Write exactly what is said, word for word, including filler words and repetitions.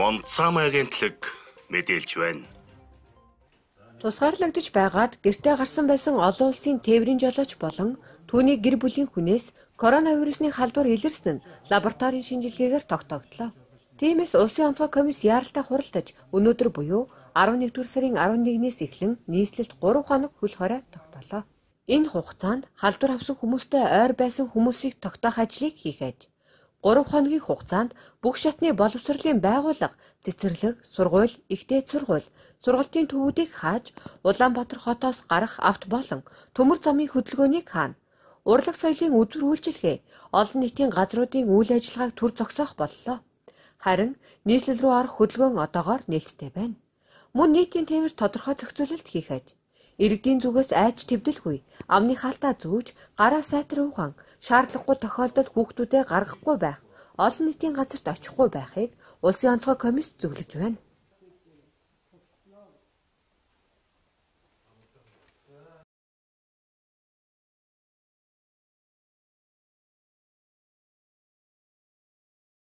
Монцам агентлаг мэдээлж байна. Тусгаарлагдж байгаад гэртээ гарсан байсан олон улсын тээврийн жолооч болон түүний гэр бүлийн хүнээс коронавирусны халдвар илэрсэн нь лабораторийн шинжилгээгээр тогтогдлоо. Тиймээс улсын онцгой комисс яаралтай хуралдаж өнөөдөр буюу арван нэгдүгээр сарын арван нэгнээс эхлэн нийслэлд гурав хоног хөл хорой тогтоолоо. Энэ хугацаанд халдвар авсан хүмүүстэй ойр байсан хүмүүсийг тогтоох ажлыг хийх аж. гурав хоногийн хугацаанд бүх шатны боловсролын байгууллага, цэцэрлэг, сургууль, ихтэй сургууль, сургалтын төвүүдийг хааж, Улаанбаатар хотоос гарах авто болон төмөр замын хөдөлгөөнийг хаана. Урлаг соёлын үзүр үйлчилгээ, олон нийтийн газруудын үйл ажиллагааг түр зогсоох боллоо. Харин нийслэл рүү арах хөдөлгөөн одоогоор нээлттэй байна. Мөн нийтийн тээвэр тодорхой зохицуулалт хийх аж. Иргэдийн зүгээс айж твдэлгүй, амны хаалтаа зүүж, гараа сайтар угаан, шаардлагагүй тохиолдолд хүүхдүүдээ гаргахгүй байх, олон нийтийн газарт очихгүй байхыг улсын онцгой комисс зөвлөж байна.